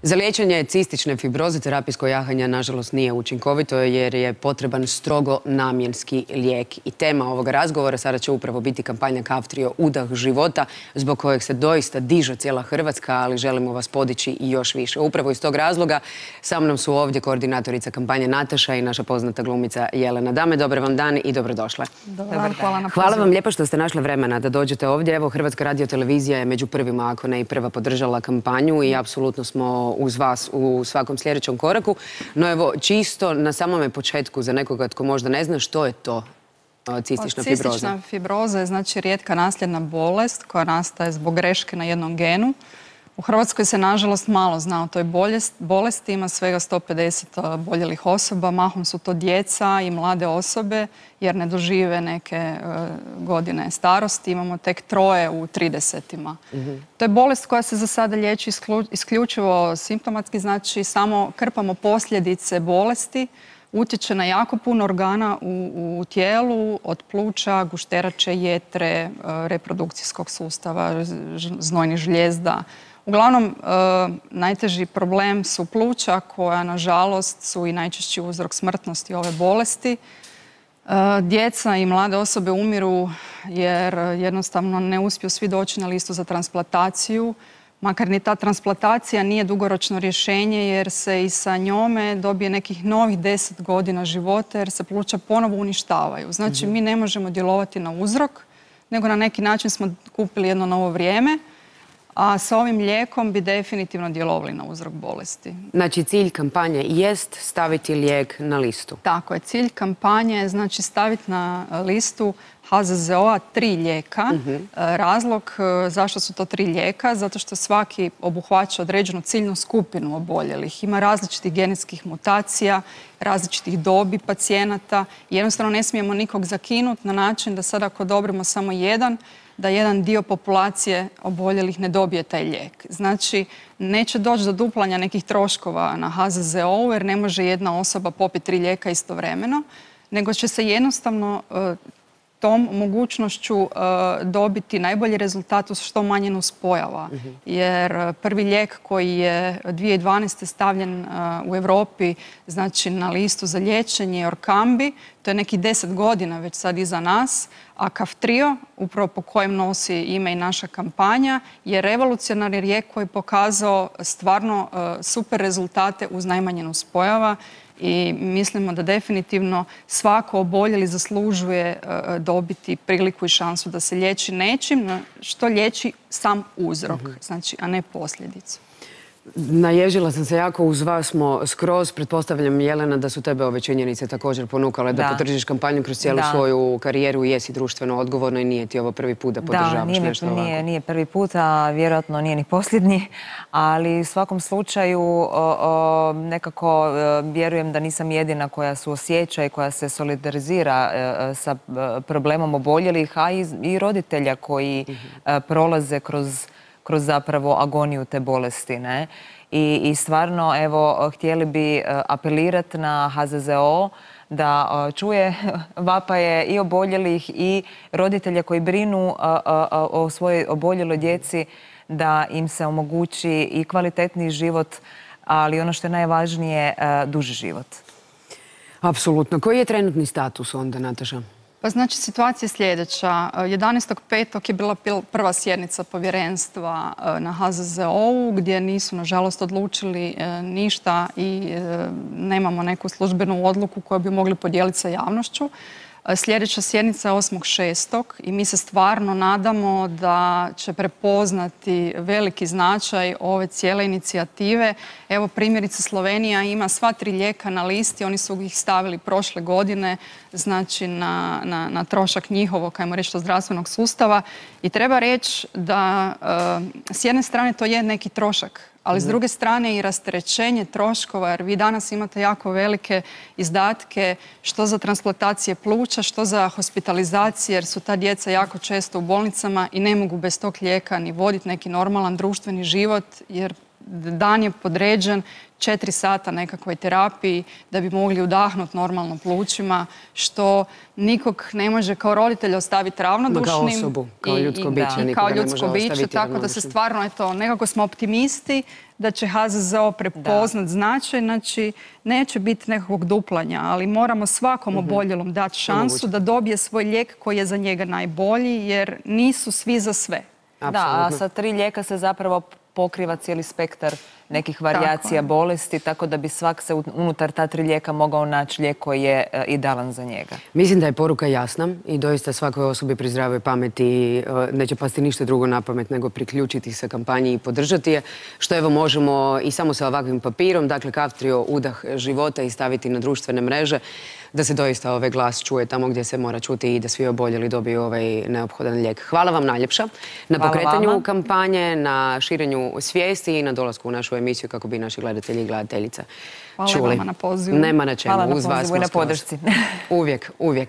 Za liječenje cistične fibroze terapijsko jahanje nažalost nije učinkovito jer je potreban strogo namjenski lijek. I tema ovoga razgovora sada će upravo biti kampanja Kaftrio udah života, zbog kojeg se doista diže cijela Hrvatska, ali želimo vas podići i još više. Upravo iz tog razloga sa mnom su ovdje koordinatorica kampanje Nataša i naša poznata glumica Jelena. Dame, dobar vam dan i dobrodošle. Hvala vam lijepo što ste našli vremena da dođete ovdje. Evo, Hrvatska radiotelevizija je među prvima, ako ne i prva, podržala kampanju i apsolutno smo uz vas u svakom sljedećem koraku. No evo, čisto na samome početku, za nekoga tko možda ne zna, što je to cistična fibroza? Cistična fibroza je znači rijetka nasljedna bolest koja nastaje zbog greške na jednom genu. U Hrvatskoj se nažalost malo zna o toj bolesti, ima svega 150 oboljelih osoba, mahom su to djeca i mlade osobe jer ne dožive neke godine starosti, imamo tek 3 u 30-ima. To je bolest koja se za sada liječi isključivo simptomatski, znači samo krpamo posljedice bolesti, utječe na jako puno organa u tijelu, od pluća, gušterače, jetre, reprodukcijskog sustava, znojnih žlijezda. Uglavnom, najteži problem su pluća koja, nažalost, su i najčešći uzrok smrtnosti ove bolesti. Djeca i mlade osobe umiru jer jednostavno ne uspiju svi doći na listu za transplantaciju. Makar ni ta transplantacija nije dugoročno rješenje jer se i sa njome dobije nekih novih 10 godina života jer se pluća ponovo uništavaju. Znači, mi ne možemo djelovati na uzrok, nego na neki način smo kupili jedno novo vrijeme. A sa ovim lijekom bi definitivno djelovali na uzrok bolesti. Znači, cilj kampanje jest staviti lijek na listu. Tako je. Cilj kampanje je znači staviti na listu HZZO-a 3 lijeka. Razlog zašto su to 3 lijeka? Zato što svaki obuhvaća određenu ciljnu skupinu oboljelih. Ima različitih genetskih mutacija, različitih dobi pacijenata. Jednostavno ne smijemo nikog zakinuti na način da sad ako odobrimo samo jedan, da jedan dio populacije oboljelih ne dobije taj lijek. Znači, neće doći do duplanja nekih troškova na HZZO-u jer ne može jedna osoba popiti 3 lijeka istovremeno, nego će se jednostavno tom mogućnošću dobiti najbolji rezultat uz što manje nuspojava. Jer prvi lijek koji je 2012. stavljen u Europi, znači na listu za liječenje je Orkambi, to je nekih 10 godina već sad iza nas, a Kaftrio, upravo po kojem nosi ime i naša kampanja, je revolucionarni lijek koji je pokazao stvarno super rezultate uz najmanje nuspojava. I mislimo da definitivno svako oboljeli zaslužuje dobiti priliku i šansu da se liječi nečim što liječi sam uzrok, znači, a ne posljedicu. Naježila sam se jako, uz vas smo skroz. Pretpostavljam, Jelena, da su tebe ove činjenice također ponukale da podržiš kampanju kroz cijelu svoju karijeru i jesi društveno odgovorna i nije ti ovo prvi put da podržavaš nešto ovako. Da, nije prvi put, a vjerojatno nije ni posljednji, ali u svakom slučaju nekako vjerujem da nisam jedina koja suosjeća i koja se solidarizira sa problemom oboljelih, a i roditelja koji prolaze kroz zapravo agoniju te bolesti, ne? I stvarno, evo, htjeli bi apelirati na HZZO da čuje vapaje i oboljelih i roditelja koji brinu o svojoj oboljeloj djeci, da im se omogući i kvalitetniji život, ali ono što je najvažnije, duži život. Apsolutno. Koji je trenutni status onda, Nataša? Pa znači, situacija je sljedeća. 11.5. je bila prva sjednica povjerenstva na HZZO-u gdje nisu, nažalost, odlučili ništa i nemamo neku službenu odluku koju bi mogli podijeliti sa javnošću. Sljedeća sjednica je 8.6. i mi se stvarno nadamo da će prepoznati veliki značaj ove cijele inicijative. Evo, primjerice, Slovenija ima sva 3 lijeka na listi, oni su ih stavili prošle godine, znači na trošak njihovog, ajmo reći, zdravstvenog sustava. I treba reći da s jedne strane to je neki trošak, ali s druge strane i rasterećenje troškova, jer vi danas imate jako velike izdatke što za transplantacije pluća, što za hospitalizacije, jer su ta djeca jako često u bolnicama i ne mogu bez tog lijeka ni voditi neki normalan društveni život, jer dan je podređen 4 sata nekakvoj terapiji da bi mogli udahnuti normalno plućima, što nikog ne može kao roditelj ostaviti ravnodušnim. Kao osobu, kao ljudsko biće. Kao ljudsko biće, tako da se stvarno, eto, nekako smo optimisti da će HZZO prepoznat značaj, znači neće biti nekakvog duplanja, ali moramo svakom oboljelom dati šansu da dobije svoj lijek koji je za njega najbolji, jer nisu svi za sve. Da, a sa 3 lijeka se zapravo pokriva cijeli spektar nekih varijacija bolesti, tako da bi svak se unutar ta 3 lijeka mogao naći lijek koji je idealan za njega. Mislim da je poruka jasna i doista svakoj osobi pri zdravoj pameti neće pasti ništa drugo na pamet nego priključiti se kampanji i podržati je, što evo možemo i samo sa ovakvim papirom, dakle Kaftrio udah života, i staviti na društvene mreže, da se doista ovaj glas čuje tamo gdje se mora čuti i da svi oboljeli dobiju ovaj neophodan lijek. Hvala vam najljepša na pokretanju kampanje, na širenju svijesti i na dolasku u našu emisiju kako bi naši gledatelji i gledateljice čuli. Hvala vam na pozivu. Nema na čemu. Hvala na Uz vas pozivu i na smo skroz. podršci. Uvijek, uvijek.